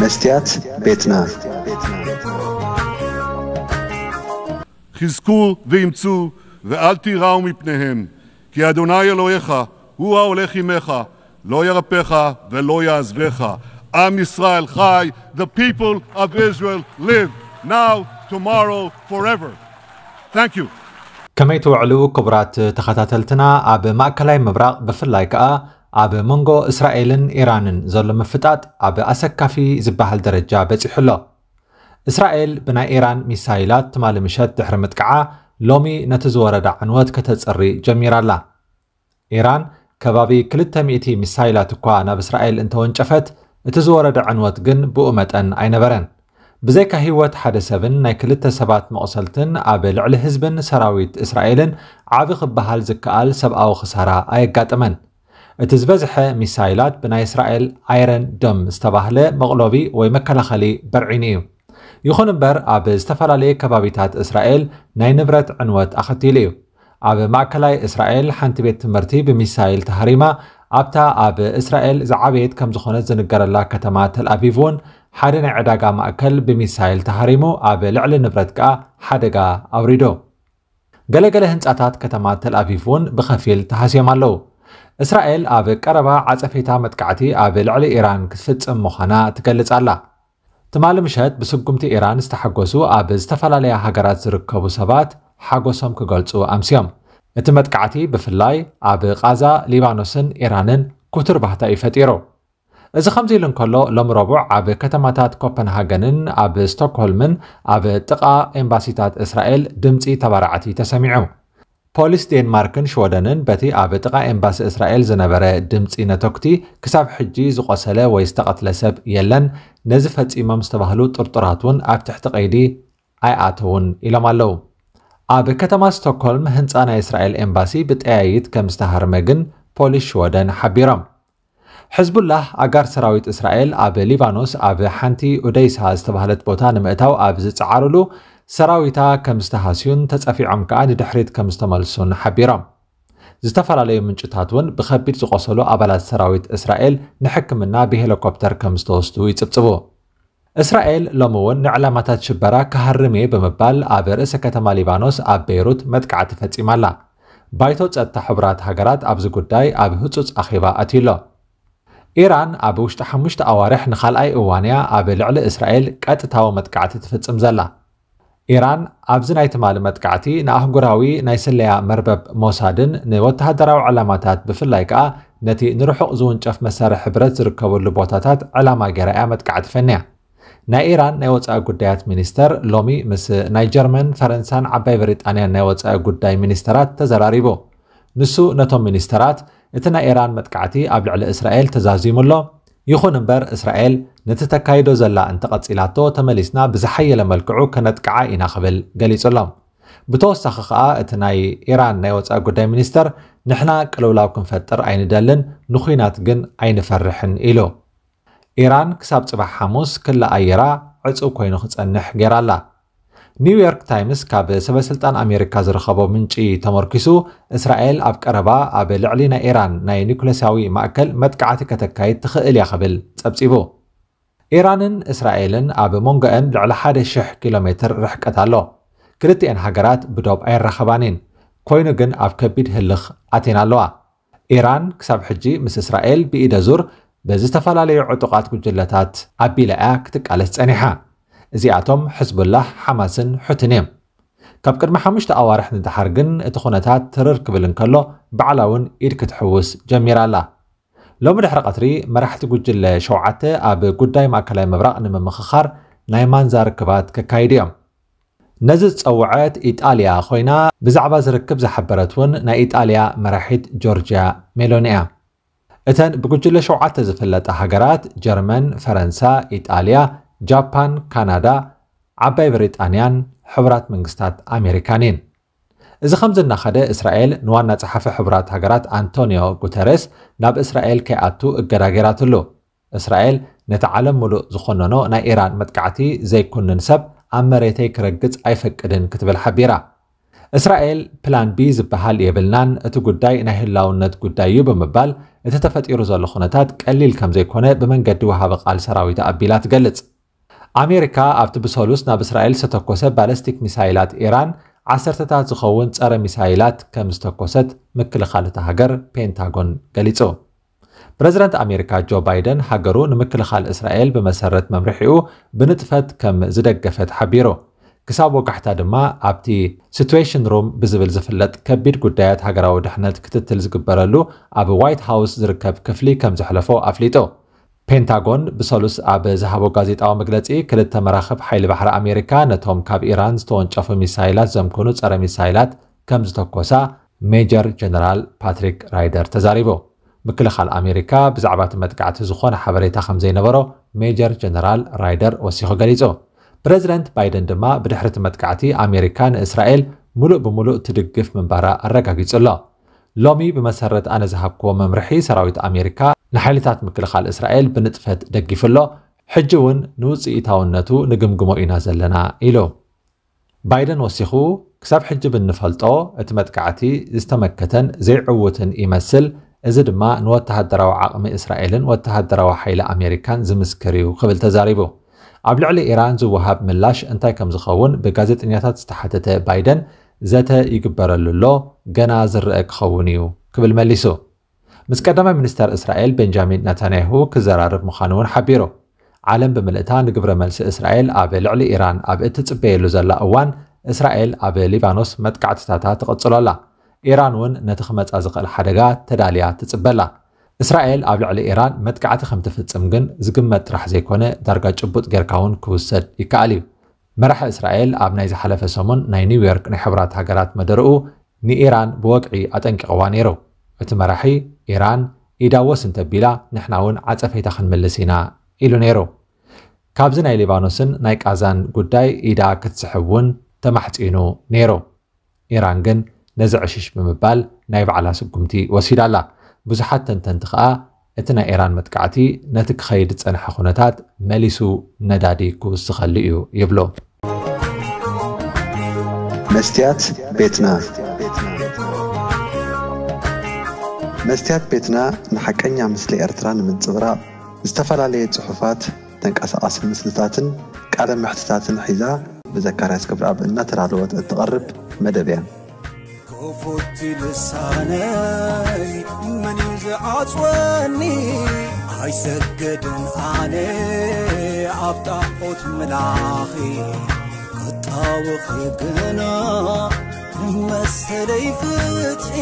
መስትያት ቤትና። חזקו ואמצו ואל תיראו מפניהם, כי אדוני אלוהיך הוא ההולך עמך, לא ירפך ולא יעזבך. עם ישראל חי, the people of Israel live, now, tomorrow, forever. Thank you. ከመይ ትውዕሉ ክቡራት ተኸታተልትና? ኣብ ማእከላይ ምብራቕ ብፍላይ ከኣ ኣብ መንጎ እስራኤልን ኢራንን ዘሎ ምፍጣጥ ኣብ ኣሰካፊ ዝበሃል ደረጃ በጺሑ ኣሎ። እስራኤል ብናይ ኢራን ሚሳይላት ትማሊ ምሸት ድሕሪ ምጥቃዓ ሎሚ ነቲ ዝወረዳ ዕንወት ከተጽሪ ጀሚራ ኣላ። ኢራን ከባቢ ክልተ ሚእቲ ሚሳይላት እኳ ናብ እስራኤል እንተወንጨፈት እቲ ዝወረደ ዕንወት ግን ብኡ መጠን ኣይነበረን። ብዘይካ ህይወት ሓደ ሰብን ናይ ክልተ ሰባት መቑሰልትን ኣብ ልዕሊ ህዝብን ሰራዊት እስራኤልን ዓቢ ክበሃል ዝከኣል ሰብኣዊ ክሳራ ኣየጋጠመን። እቲ ዝበዝሐ ሚሳይላት ብናይ እስራኤል ኣይረን ዶም ዝተባህለ መቕሎቢ ወይ መከላኸሊ በርዒኑ እዩ። ይኹን እምበር ኣብ ዝተፈላለየ ከባቢታት እስራኤል ናይ ንብረት ዕንወት ኣኸቲሉ እዩ። ኣብ ማእከላይ እስራኤል ሓንቲ ቤት ትምህርቲ ብሚሳይል ተሃሪማ ኣብታ ኣብ እስራኤል ዝዓበየት ከም ዝኾነት ዝንገረላ ከተማ ተልኣቪቭ እውን ሓደ ናይ ዕዳጋ ማእከል ብሚሳይል ተሃሪሙ ኣብ ልዕሊ ንብረት ከኣ ሓደጋ ኣውሪዱ። ገለገለ ህንጻታት ከተማ ተልኣቪቭ እውን ብኸፊል ተሃስዮም ኣለዉ። እስራኤል ኣብ ቀረባ ዓጸፌታ መጥቃዕቲ ኣብ ልዕሊ ኢራን ክትፍጽም ምዃና ትገልጽ ኣላ። ትማሊ ምሸት ብስጉምቲ ኢራን ዝተሓጎሱ ኣብ ዝተፈላለያ ሃገራት ዝርከቡ ሰባት ሓጎሶም ክገልጹ ኣምስዮም። እቲ መጥቃዕቲ ብፍላይ ኣብ ቓዛ፣ ሊባኖስን ኢራንን ክቱር ባህታ እዩ ፈጢሩ። እዚ ከምዚ ኢሉ እንከሎ ሎም ረቡዕ ኣብ ከተማታት ኮፐንሃገንን ኣብ ስቶክሆልምን ኣብ ጥቓ ኤምባሲታት እስራኤል ድምጺ ተባራዕቲ ተሰሚዑ። ፖሊስ ዴንማርክን ሽወደንን በቲ ኣብ ጥቓ ኤምባሲ እስራኤል ዝነበረ ድምጺ ነተኩቲ ክሳብ ሕጂ ዝቖሰለ ወይ ዝተቐትለ ሰብ የለን፣ ነዚ ፈጺሞም ዝተባህሉ ጥርጡራት እውን ኣብ ትሕቲ ቀይዲ ኣይኣተውን ኢሎም ኣለዉ። ኣብ ከተማ ስቶክሆልም ህንጻ ናይ እስራኤል ኤምባሲ ብጠያይት ከም ዝተሃርመ ግን ፖሊስ ሽወደን ሓቢሮም። ሕዝቡላህ ኣጋር ሰራዊት እስራኤል ኣብ ሊባኖስ ኣብ ሓንቲ ኡደይሳ ዝተባህለት ቦታ ንምእታው ኣብ ዝጸዓሩሉ ሰራዊታ ከም ዝተሃስዩን ተጸፊዖም ከኣ ንድሕሪት ከም ዝተመልሱን ሓቢሮም። ዝተፈላለዩ ምንጭታት እውን ብኸቢድ ዝቆሰሉ ኣባላት ሰራዊት እስራኤል ንሕክምና ብሄሊኮፕተር ከም ዝተወስዱ ይጽብጽቡ። እስራኤል ሎሚ እውን ንዕላማታት ሽበራ ክሃርም እየ ብምባል ኣብ ርእሰ ከተማ ሊባኖስ ኣብ ቤይሩት መጥቃዕቲ ፈጺማ ኣላ። ባይቶ ጸጥታ ሕቡራት ሃገራት ኣብዚ ጉዳይ ኣብ ህጹጽ ኣኼባ ኣትዩ ኣሎ። ኢራን ኣብ ውሽጢ ሓሙሽተ ኣዋርሕ ንኻልኣይ እዋን እያ ኣብ ልዕሊ እስራኤል ቀጥታዊ መጥቃዕቲ ትፍጽም ዘላ። ኢራን ኣብዚ ናይ ትማሊ መጥቃዕቲ ንኣህጉራዊ ናይ ስለያ መርበብ ሞሳድን ንወተሃደራዊ ዕላማታት ብፍላይ ከኣ ነቲ ንርሑቕ ዝውንጨፍ መሳርሒ ብረት ዝርከበሉ ቦታታት ዕላማ ገይራ እያ መጥቃዕቲ ፈንያ። ናይ ኢራን ናይ ወጻኢ ጉዳያት ሚኒስተር ሎሚ ምስ ናይ ጀርመን፣ ፈረንሳን ዓባይ ብሪጣንያን ናይ ወጻኢ ጉዳይ ሚኒስተራት ተዘራሪቡ። ንሱ ነቶም ሚኒስተራት እቲ ናይ ኢራን መጥቃዕቲ ኣብ ልዕሊ እስራኤል ተዛዚሙ ኣሎ፣ ይኹን እምበር እስራኤል ነቲ ተካይዶ ዘላ እንተቐጺላቶ ተመሊስና ብዝሓየለ መልክዑ ከነጥቅዓ ኢና ክብል ገሊጹሎም። ብተወሳኺ ከኣ እቲ ናይ ኢራን ናይ ወጻኢ ጉዳይ ሚኒስተር ንሕና ቅልውላው ክንፈጥር ኣይንደልን፣ ንኹናት ግን ኣይንፈርሕን ኢሉ። ኢራን ክሳብ ጽባሕ ሓሙስ ክሊ ኣየራ ዕጹው ኮይኑ ክጸንሕ ገይራ ኣላ። ኒውዮርክ ታይምስ ካብ ሰበስልጣን ኣሜሪካ ዝረኸቦ ምንጪ ተመርኪሱ እስራኤል ኣብ ቀረባ ኣብ ልዕሊ ናይ ኢራን ናይ ኒኩለሳዊ ማእከል መጥቃዕቲ ከተካይድ ትኽእል እያ ክብል ጸብጺቡ። ኢራንን እስራኤልን ኣብ መንጎአን ልዕሊ ሓደ ሽሕ ኪሎ ሜትር ርሕቀት ኣሎ። ክልቲኤን ሃገራት ብዶብ ኣይራኸባን እየን። ኮይኑ ግን ኣብ ከቢድ ህልኽ ኣትየን ኣለዋ። ኢራን ክሳብ ሕጂ ምስ እስራኤል ብኢደ ዙር ብዝተፈላለዩ ዕጡቓት ጉጅለታት ኣቢላ እያ ክትቃለስ ጸኒሓ። እዚኣቶም ሕዝቡላህ፣ ሓማስን ሑትን እዮም። ካብ ቅድሚ ሓሙሽተ ኣዋርሕ ንደሓር ግን እቲ ኩነታት ትርር ክብል እንከሎ ባዕላ እውን ኢድ ክትሕውስ ጀሚራ ኣላ። ሎሚ ድሕሪ ቀትሪ መራሕቲ ጉጅለ ሸውዓተ ኣብ ጉዳይ ማእከላይ ምብራቕ ንምምኽኻር ናይ ማንዛ ርክባት ከካይዱ እዮም። ነዚ ዝጸውዐት ኢጣልያ ኮይና ብዛዕባ ዝርክብ ዝሓበረት እውን ናይ ኢጣልያ መራሒት ጆርጅያ ሜሎኒ እያ። እተን ብጉጅለ ሸውዓተ ዝፍለጣ ሃገራት ጀርመን፣ ፈረንሳ፣ ኢጣልያ፣ ጃፓን፣ ካናዳ፣ ዓባይ ብሪጣንያን ሕቡራት መንግስታት ኣሜሪካን እየን። እዚ ከምዚ እናኸደ እስራኤል ንዋና ጸሓፊ ሕቡራት ሃገራት ኣንቶኒዮ ጉተረስ ናብ እስራኤል ከይኣቱ እገዳ ገይራትሉ። እስራኤል ነቲ ዓለም ምሉእ ዝኾነኖ ናይ ኢራን መጥቃዕቲ ዘይኩንን ሰብ ኣብ መሬተይ ክረግጽ ኣይፈቅድን ክትብል ሓቢራ። እስራኤል ፕላን ቢ ዝበሃል የብልናን፣ እቲ ጉዳይ ናይ ህላውነት ጉዳይ እዩ ብምባል፣ እቲ ተፈጢሩ ዘሎ ኩነታት ቀሊል ከም ዘይኮነ ብመንገዲ ወሃቢ ቃል ሰራዊት ኣቢላ ትገልጽ። ኣሜሪካ ኣብቲ ብሰሉስ ናብ እስራኤል ዝተተኮሰ ባለስቲክ ሚሳይላት ኢራን ዓሰርተታት ዝኸውን ጸረ ሚሳይላት ከም ዝተኮሰት ምክልኻል እታ ሃገር ፔንታጎን ገሊጹ። ፕረዚደንት ኣሜሪካ ጆ ባይደን ሃገሩ ንምክልኻል እስራኤል ብመሰረት መምርሒኡ ብንጥፈት ከም ዝደገፈት ሓቢሩ። ክሳብ ወጋሕታ ድማ ኣብቲ ሲትዌሽን ሩም ብዝብል ዝፍለጥ ከቢድ ጉዳያት ሃገራዊ ድሕነት ክትትል ዝግበረሉ ኣብ ዋይት ሃውስ ዝርከብ ክፍሊ ከም ዘሕለፎ ኣፍሊጡ። ፔንታጎን ብሰሉስ ኣብ ዝሃቦ ጋዜጣዊ መግለጺ፣ ክልተ መራኽብ ሓይሊ ባሕሪ ኣሜሪካ ነቶም ካብ ኢራን ዝተወንጨፉ ሚሳይላት ዘምክኑ ጸረ ሚሳይላት ከም ዝተኮሳ ሜጀር ጀነራል ፓትሪክ ራይደር ተዛሪቡ። ምክልኻል ኣሜሪካ ብዛዕባ እቲ መጥቃዕቲ ዝኾነ ሓበሬታ ከም ዘይነበሮ ሜጀር ጀነራል ራይደር ወሲኹ ገሊጹ። ፕረዚደንት ባይደን ድማ ብድሕሪ እቲ መጥቃዕቲ ኣሜሪካ ንእስራኤል ሙሉእ ብሙሉእ ትድግፍ ምንባራ ኣረጋጊጹ ኣሎ። ሎሚ ብመሰረት ኣነ ዝሃብክዎ መምርሒ ሰራዊት ኣሜሪካ ንሓይልታት ምክልኻል እስራኤል ብንጥፈት ደጊፉ ኣሎ። ሕጂ እውን ንውፅኢታውነቱ ንግምግሞ ኢና ዘለና ኢሉ። ባይደን ወሲኹ፣ ክሳብ ሕጂ ብንፈልጦ እቲ መጥቃዕቲ ዝተመከተን ዘይዕውትን ይመስል፣ እዚ ድማ ንወተሃደራዊ ዓቕሚ እስራኤልን ወተሃደራዊ ሓይሊ ኣሜሪካን ዝምስክር እዩ ክብል ተዛሪቡ። ኣብ ልዕሊ ኢራን ዝወሃብ ምላሽ እንታይ ከም ዝኸውን ብጋዜጠኛታት ዝተሓተተ ባይደን፣ ዘተ ይግበረሉ ኣሎ፣ ገና ዝረአ ክኸውን እዩ ክብል መሊሱ። ምስ ቀዳማይ ሚኒስተር እስራኤል ቤንጃሚን ነታንያሁ ክዘራረብ ምዃኑ እውን ሓቢሩ። ዓለም ብምልእታ ንግብረ መልሲ እስራኤል ኣብ ልዕሊ ኢራን ኣብ እትጽበየሉ ዘላ እዋን፣ እስራኤል ኣብ ሊባኖስ መጥቃዕትታታ ትቕጽሎ ኣላ። ኢራን እውን ነቲ ክመጻ ዝኽእል ሓደጋ ተዳልያ ትጽበ ኣላ። እስራኤል ኣብ ልዕሊ ኢራን መጥቃዕቲ ከም ትፍጽም ግን ዝግመት ጥራሕ ዘይኮነ፣ ዳርጋ ጭቡጥ ጌርካ እውን ክውሰድ ይከኣል እዩ። መራሒ እስራኤል ኣብ ናይ ዝሓለፈ ሰሙን ናይ ኒውዮርክ ናይ ሕቡራት ሃገራት መደርኡ ንኢራን ብወግዒ ኣጠንቂቕዋ ነይሩ። እቲ መራሒ፣ ኢራን ኢዳ ወስ እንተቢላ ንሕና እውን ዓጸፈይታ ክንምልስ ኢና ኢሉ ነይሩ። ካብዚ ናይ ሊባኖስን ናይ ቃዛን ጉዳይ ኢዳ ክትስሕብ እውን ተማሕጺኑ ነይሩ። ኢራን ግን ነዚ ዕሽሽ ብምባል ናይ ባዕላ ስጉምቲ ወሲዳ ኣላ። ብዙሓት ተንተንቲ ከኣ እቲ ናይ ኢራን መጥቃዕቲ ነቲ ክኸይድ ዝጸንሐ ኩነታት መሊሱ ነዳዲ ክውስኸሉ እዩ ይብሉ። መስትያት ቤትና። መስትያት ቤትና ንሓቀኛ ምስሊ ኤርትራ ንምንጽብራቕ ዝተፈላለየ ጽሑፋት፣ ተንቀሳቓሲ ምስልታትን ቃለ መሕትታትን ሒዛ ብዘካርያስ ክብረኣብ እናተዳለወት እትቐርብ መደብ እያ። ክፉት ልሳነይ መን እዩ ዝዓጽወኒ? ኣይሰግድን ኣነ ኣብ ጣዖት ምላኺ፣ ክጣወኺ ግና ንመሰለይ ፍትሒ።